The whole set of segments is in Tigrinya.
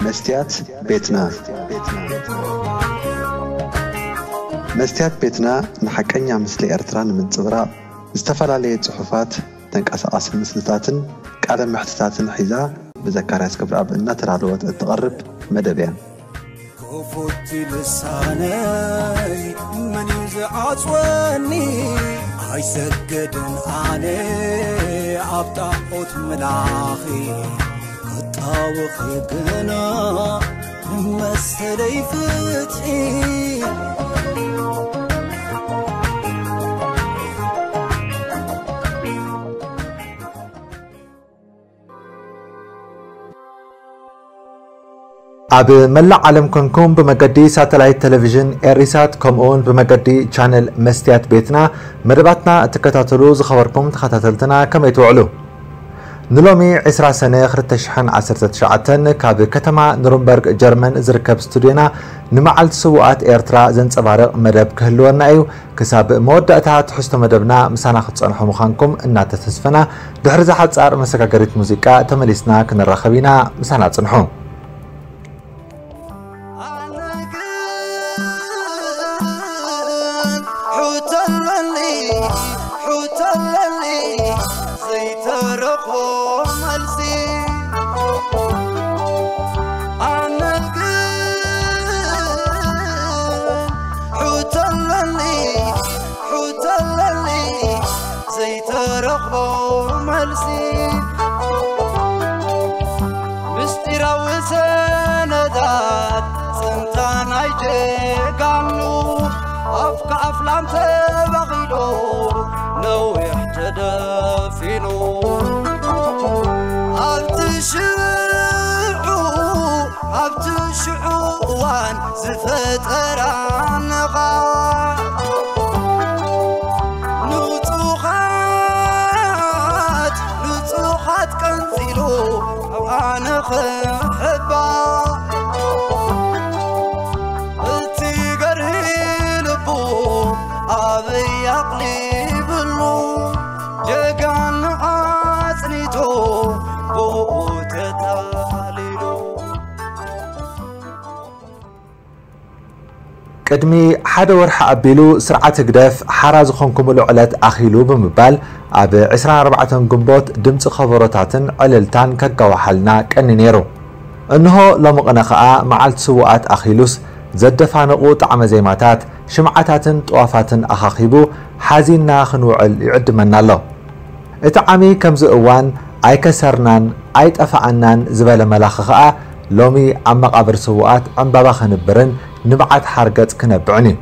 መስትያት ቤትና። መስትያት ቤትና ንሓቀኛ ምስሊ ኤርትራ ንምንጽብራቕ ዝተፈላለየ ጽሑፋት፣ ተንቀሳቓሲ ምስልታትን ቃለ መሕትታትን ሒዛ ብዘካርያስ ክብረኣብ እናተዳለወት እትቐርብ መደብ እያ። ክፉት ልሳነይ መን እዩ ዝዓጽወኒ? ኣይሰግድን ኣነ ኣብ ጣዖት ምላኺ፣ ክጣወኺ ግና መሰለይ ፍትሒ። ኣብ መላእ ዓለም ኮንኩም ብመገዲ ሳተላይት ቴሌቪዥን ኤሪሳት፣ ከምኡውን ብመገዲ ቻነል መስትያት ቤትና መደባትና እትከታተሉ ዝኸበርኩም ተኸታተልትና፣ ከመይ ትውዕሉ? ንሎሚ ዕስራ ሰነ ክልተ ሽሕን ዓሰርተ ትሽዓተን ካብ ከተማ ኑርንበርግ ጀርመን ዝርከብ ስቱድዮና ንመዓልቲ ስዉኣት ኤርትራ ዘንጸባርቕ መደብ ክህልወና እዩ። ክሳብ መወዳእታ ትሕዝቶ መደብና ምሳና ክትጸንሑ ምዃንኩም እናተተስፈና፣ ድሕሪ እዛ ሓጻር መሰጋገሪት ሙዚቃ ተመሊስና ክንራኸብ ኢና። ምሳና ጽንሑ። ኣነ ግን ሕቶ ኣለኒ፣ ሕቶ ኣለኒ ዘይተረኽቦ መልሲ። ኣነ ግን ሕቶ ኣለኒ፣ ሕቶ ኣለኒ ዘይተረኽቦ መልሲ። ምስጢራዊ ሰነዳት ጽንታ ናይ ጀጋኑ፣ ኣፍ ከኣፍ ላም ተባኺሉ ነዊሕ ተደፊኑ። ኣብቲ ሽዑ፣ ኣብቲ ሽዑ እዋን ዝፈጠራ ነቓ፣ ንጹኻት፣ ንጹኻት ቀንጺሉ ኣብ ኣነ ክሕባ። እቲ ገርሂ ልቡ ኣበይ ኣቕሊብሉ፣ ጀጋኑ ኣጽኒቱ ብኡ ተታሊሉ። ቅድሚ ሓደ ወርሒ ኣቢሉ ስርዓት ህግደፍ ሓራ ዝኾንኩምሉ ዕለት ኣኺሉ ብምባል ኣብ ዕስራን ኣርባዕተን ግንቦት ድምጺ ከበሮታትን ዕልልታን ከጋውሓልና ቀኒ ነይሩ። እንሆ ሎሚ ቅነ ኸኣ መዓልቲ ስዉኣት ኣኺሉስ ዘደፋንቑ ጣዕመ ዜማታት፣ ሽምዓታትን ጥዋፋትን ኣኻኺቡ ሓዚንና ክንውዕል ይዕድመና ኣሎ። እቲ ዓሚ ከምዚ እዋን ኣይከሰርናን ኣይጠፋኣናን ዝበለ መላኺ ኸኣ ሎሚ ኣብ መቓብር ስዉኣት ዕምባባ ከንብርን ንብዓት ሓርገጽ ክነብዕን እዩ።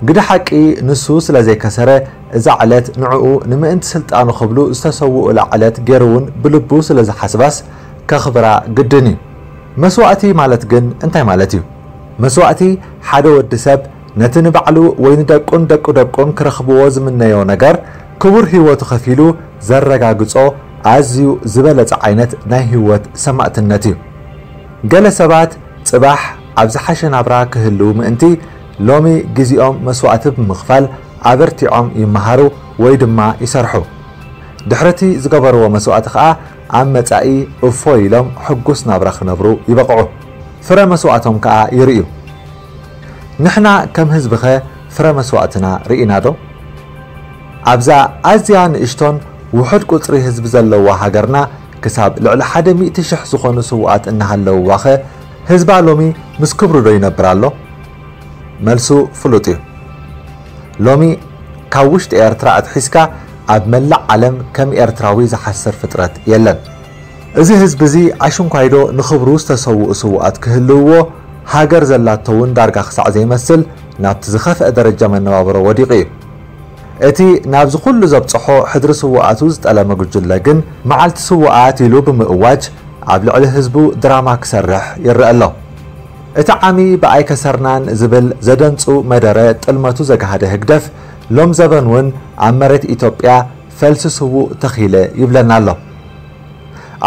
ግደ ሓቂ ንሱ ስለ ዘይከሰረ እዛ ዕለት ንዕኡ ንምእንቲ ስልጣኑ ክብሉ ዝተሰውኡላ ዕለት ገይሩ እውን ብልቡ ስለ ዝሓስባስ ከኽብራ ግድን እዩ። መስዋእቲ ማለት ግን እንታይ ማለት እዩ? መስዋእቲ ሓደ ወዲ ሰብ ነቲ ንባዕሉ ወይ ንደቁን ደቂ ደቁን ክረኽብዎ ዝምነዮ ነገር ክቡር ህይወቱ ከፊሉ ዘረጋግጾ ኣዝዩ ዝበለጸ ዓይነት ናይ ህይወት ሰማእትነት እዩ። ገለ ሰባት ጽባሕ ኣብ ዝሓሸ ናብራ ክህልዉ ምእንቲ ሎሚ ግዜኦም መስዋእቲ ብምኽፋል ኣበርቲዖም ይመሃሩ ወይ ድማ ይሰርሑ። ድሕሪ እቲ ዝገበርዎ መስዋእቲ ከኣ ኣብ መጻኢ እፎይ ኢሎም ሕጉስ ናብራ ክነብሩ ይበቕዑ። ፍረ መስዋእቶም ከኣ ይርእዩ። ንሕና ከም ህዝብኸ ፍረ መስዋእትና ርኢና ዶ? ኣብዛ ኣዝያ ንእሽቶን ውሑድ ቁጽሪ ህዝቢ ዘለዋ ሃገርና ክሳብ ልዕሊ ሓደ ሚእቲ ሽሕ ዝኾኑ ስዉኣት እናሃለውዋኸ ህዝባ ሎሚ ምስ ክብሩ ዶ ይነብር ኣሎ? መልሱ ፍሉጥ እዩ። ሎሚ ካብ ውሽጢ ኤርትራ ኣትሒዝካ ኣብ መላእ ዓለም ከም ኤርትራዊ ዝሓስር ፍጥረት የለን። እዚ ህዝቢ እዚ ኣሽንኳይዶ ንኽብሩ ዝተሰውኡ ስዉኣት ክህልውዎ፣ ሃገር ዘላቶ እውን ዳርጋ ክሳዕ ዘይመስል ናብቲ ዝኸፍአ ደረጃ መነባብሮ ወዲቑ እዩ። እቲ ናብዚ ኩሉ ዘብጽሖ ሕድሪ ስዉኣቱ ዝጠለመ ጉጅለ ግን መዓልቲ ስዉኣት ኢሉ ብምእዋጅ ኣብ ልዕሊ ህዝቡ ድራማ ክሰርሕ ይረአ ኣሎ። እቲ ዓሚ ብኣይ ከሰርናን ዝብል ዘደንጹ መደረ ጥልመቱ ዘግሃደ ህግደፍ ሎም ዘበን እውን ኣብ መሬት ኢትዮጵያ ፈልሲ ስዉእ ተኺለ ይብለና ኣሎ።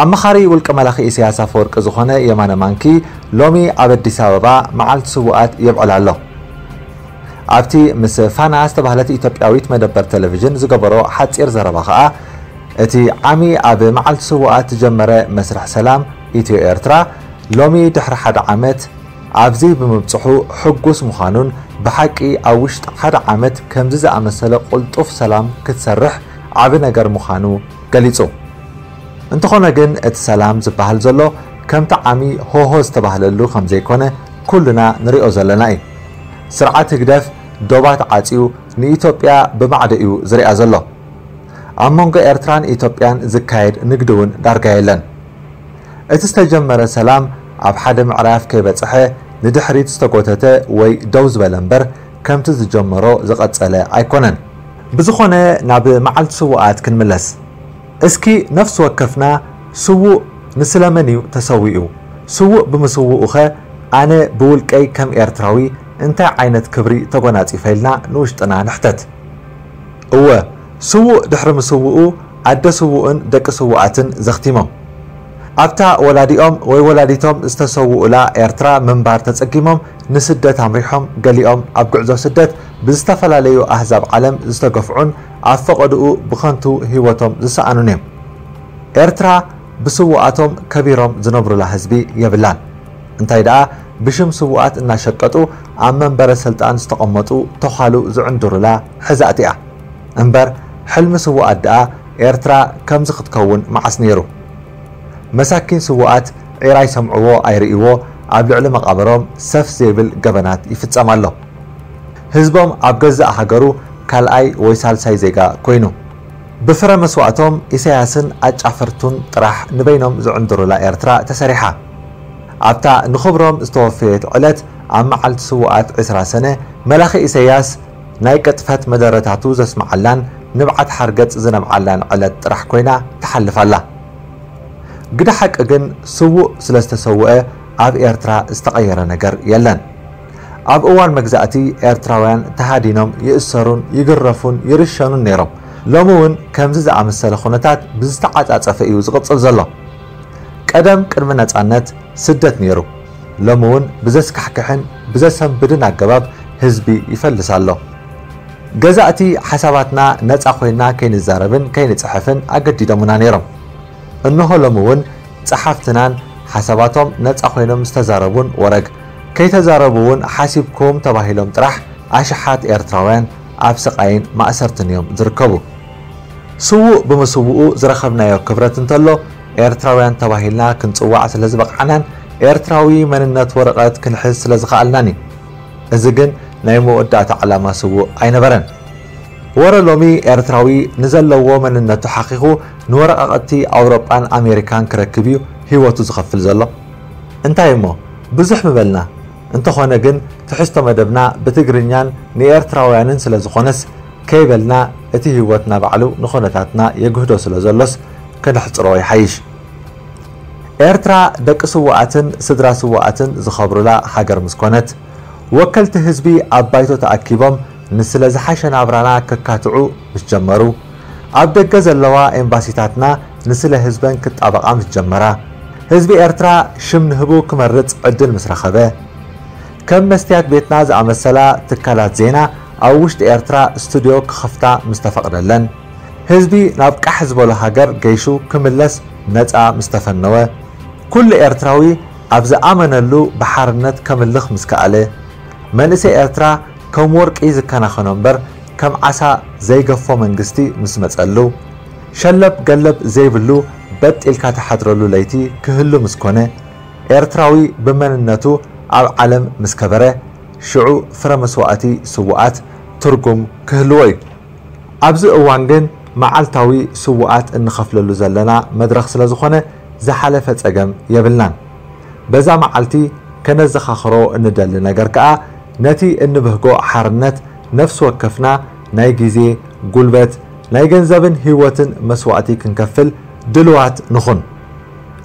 ኣማኻሪ ውልቀ መላኺ ኢሳያስ ኣፈወርቂ ዝኾነ የማነ ማንኪ ሎሚ ኣብ ኣዲስ ኣበባ መዓልቲ ስዉኣት የብዕል ኣሎ። ኣብቲ ምስ ፋና ዝተባህለት ኢትዮጵያዊት መደበር ቴሌቪዥን ዝገበሮ ሓጺር ዘረባ ከኣ እቲ ዓሚ ኣብ መዓልቲ ስዉኣት ዝጀመረ መስርሕ ሰላም ኢትዮ ኤርትራ ሎሚ ድሕሪ ሓደ ዓመት ኣብዚ ብምብጽሑ ሕጉስ ምዃኑን ብሓቂ ኣብ ውሽጢ ሓደ ዓመት ከምዚ ዝኣመሰለ ቅልጡፍ ሰላም ክትሰርሕ ዓቢ ነገር ምዃኑ ገሊጹ። እንተኾነ ግን እቲ ሰላም ዝበሃል ዘሎ ከምቲ ዓሚ ሆሆ ዝተባህለሉ ከም ዘይኮነ ኩልና ንሪኦ ዘለና እዩ። ስርዓት ህግደፍ ዶባት ዓጽዩ ንኢትዮጵያ ብማዕዶ እዩ ዝሪኣ ዘሎ። ኣብ መንጎ ኤርትራን ኢትዮጵያን ዝካየድ ንግዲ እውን ዳርጋ የለን። እቲ ዝተጀመረ ሰላም ኣብ ሓደ ምዕራፍ ከይበጽሐ ንድሕሪት ዝተጎተተ ወይ ደው ዝበለ እምበር ከምቲ ዝጀመሮ ዝቐጸለ ኣይኮነን። ብዝኾነ ናብ መዓልቲ ስውኣት ክንምለስ። እስኪ ነፍሲ ወከፍና ስዉእ ንስለ መን እዩ ተሰዊኡ? ስዉእ ብምስውኡኸ ኣነ ብውልቀይ ከም ኤርትራዊ እንታይ ዓይነት ክብሪ ተጎናጺፈ ኢልና ንውሽጥና ንሕተት። እወ፣ ስዉእ ድሕሪ ምስውኡ ኣደ ስዉእን ደቂ ስዉኣትን ዘኽቲሞም። ኣብታ ወላዲኦም ወይ ወላዲቶም ዝተሰውኡላ ኤርትራ ምንባር ተጸጊሞም ንስደት ኣምሪሖም፣ ገሊኦም ኣብ ጉዕዞ ስደት ብዝተፈላለዩ ኣህዛብ ዓለም ዝተገፍዑን ኣብ ፈቐድኡ ብኸንቱ ህይወቶም ዝሰኣኑን እዮም። ኤርትራ ብስዉኣቶም ከቢሮም ዝነብሩላ ህዝቢ የብላን። እንታይ ደኣ ብሽም ስዉኣት እናሸቀጡ ኣብ መንበረ ስልጣን ዝተቐመጡ ተዃሉ ዝዕንድሩላ ሕዛእቲ እያ። እምበር ሕልሚ ስዉኣት ደኣ ኤርትራ ከምዚ ክትከውን መዓስ ነይሩ? መሳኪን ስዉኣት ዒራ ይሰምዕዎ ኣይርእይዎ ኣብ ልዕሊ መቓብሮም ሰፍ ዘይብል ገበናት ይፍጸም ኣሎ። ህዝቦም ኣብ ገዛእ ሃገሩ ካልኣይ ወይ ሳልሳይ ዜጋ ኮይኑ። ብፍረ መስዋእቶም ኢሳያስን ኣጫፈርቱን ጥራሕ ንበይኖም ዝዕንድሩላ ኤርትራ ተሰሪሓ። ኣብታ ንኽብሮም ዝተወፈየት ዕለት ኣብ መዓልቲ ስዉኣት ዕስራ ሰነ መላኺ ኢሳያስ ናይ ቅጥፈት መደረታቱ ዘስምዓላን ንብዓት ሓርገጽ ዝነብዓላን ዕለት ጥራሕ ኮይና ትሓልፍ ኣላ። ግደ ሓቂ ግን ስዉእ ስለ ዝተሰውአ ኣብ ኤርትራ ዝተቐየረ ነገር የለን። ኣብ እዋን መግዛእቲ ኤርትራውያን ተሃዲኖም ይእሰሩን ይግረፉን ይርሸኑን ነይሮም። ሎሚ እውን ከምዚ ዝኣመሰለ ኩነታት ብዝተዓጻጸፈ እዩ ዝቕጽል ዘሎ። ቀደም ቅድሚ ነጻነት ስደት ነይሩ። ሎሚ እውን ብዘስካሕክሕን ብዘሰንብድን ኣገባብ ህዝቢ ይፈልስ ኣሎ። ገዛእቲ ሓሳባትና ነጻ ኮይና ከይንዛረብን ከይንጽሕፍን ኣገዲዶምና ነይሮም። እንሆ ሎሚ እውን ጸሓፍትናን ሓሳባቶም ነጻ ኮይኖም ዝተዛረቡን ወረግ ከይተዛረቡ እውን ሓሲብኩም ተባሂሎም ጥራሕ ኣሽሓት ኤርትራውያን ኣብ ስቓይን ማእሰርትን እዮም ዝርከቡ። ስዉእ ብምስውኡ ዝረኸብናዮ ክብረት እንተሎ ኤርትራውያን ተባሂልና ክንጽዋዕ ስለ ዝበቕዓናን ኤርትራዊ መንነት ወረቐት ክንሕዝ ስለ ዝኸኣልናን እዩ። እዚ ግን ናይ መወዳእታ ዕላማ ስዉእ ኣይነበረን። ወረ ሎሚ ኤርትራዊ ንዘለዎ መንነቱ ሓኺኹ ንወረቓቕቲ ኣውሮጳን ኣሜሪካን ክረክብ እዩ ህይወቱ ዝኸፍል ዘሎ። እንታይ እሞ ብዙሕ ምበልና። እንተኾነ ግን ትሕዝቶ መደብና ብትግርኛን ንኤርትራውያንን ስለ ዝኾነስ ከይበልና እቲ ህይወትና ባዕሉ ንኹነታትና የግህዶ ስለ ዘሎስ ከነሕጽሮ ይሓይሽ። ኤርትራ ደቂ ስዉኣትን ስድራ ስዉኣትን ዝኸብሩላ ሃገር ምስ ኮነት፣ ወከልቲ ህዝቢ ኣብ ባይቶ ተኣኪቦም ንስለ ዝሓሸ ናብራና ከካትዑ ምስ ጀመሩ፣ ኣብ ደገ ዘለዋ ኤምባሲታትና ንስለ ህዝበን ክጣበቓ ምስ ጀመራ፣ ህዝቢ ኤርትራ ሽም ንህቡ ክመርጽ ዕድል ምስ ረኸበ፣ ከም መስትያት ቤትና ዝኣመሰላ ትካላት ዜና ኣብ ውሽጢ ኤርትራ ስቱድዮ ክኸፍታ ምስ ተፈቕደለን፣ ህዝቢ ናብ ቃሕ ዝበሎ ሃገር ገይሹ ክምለስ ነጻ ምስ ተፈነወ፣ ኩሉ ኤርትራዊ ኣብ ዝኣመነሉ ብሓርነት ከምልኽ ምስ ከኣለ፣ መንእሰይ ኤርትራ ከም ወርቂ ዝከናኸኖ እምበር ከም ዓሳ ዘይገፎ መንግስቲ ምስ መጸሉ፣ ሸለብ ገለብ ዘይብሉ በጥ ኢልካ ትሓድረሉ ለይቲ ክህሉ ምስ ኮነ፣ ኤርትራዊ ብመንነቱ ኣብ ዓለም ምስ ከበረ፣ ሽዑ ፍረ መስዋእቲ ስዉኣት ትርጉም ክህልዎ እዩ። ኣብዚ እዋን ግን መዓልታዊ ስዉኣት እንኸፍለሉ ዘለና መድረኽ ስለ ዝኾነ ዝሓለፈ ጸገም የብልናን። በዛ መዓልቲ ከነዘኻኽሮ እንደሊ ነገር ከኣ ነቲ እንብህጎ ሓርነት ነፍሲ ወከፍና ናይ ግዜ፣ ጉልበት፣ ናይ ገንዘብን ህይወትን መስዋእቲ ክንከፍል ድልዋት ንኹን።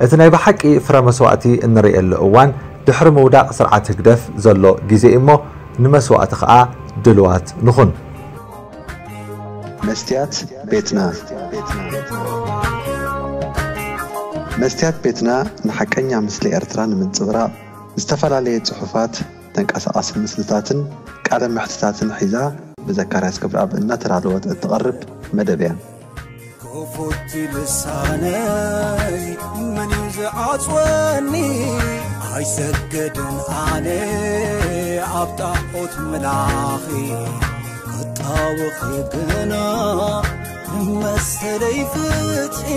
እቲ ናይ ብሓቂ ፍረ መስዋእቲ እንርእየሉ እዋን ድሕሪ ምውዳቕ ስርዓት ህግደፍ ዘሎ ግዜ እሞ ንመስዋእቲ ከኣ ድልዋት ንኹን። መስትያት ቤትና መስትያት ቤትና ንሓቀኛ ምስሊ ኤርትራ ንምንጽብራቕ ዝተፈላለየ ጽሑፋት፣ ተንቀሳቓሲ ምስልታትን ቃለ መሕትታትን ሒዛ ብዘካርያስ ክብረኣብ እናተዳለወት እትቐርብ መደብ እያ። ክፉት ልሳነይ መን እዩ ዝዓጽወኒ? ኣይሰግድን ኣነ ኣብ ጣዖት ምላኺ ክጣወኺ ግና ንመሰለይ ፍትሒ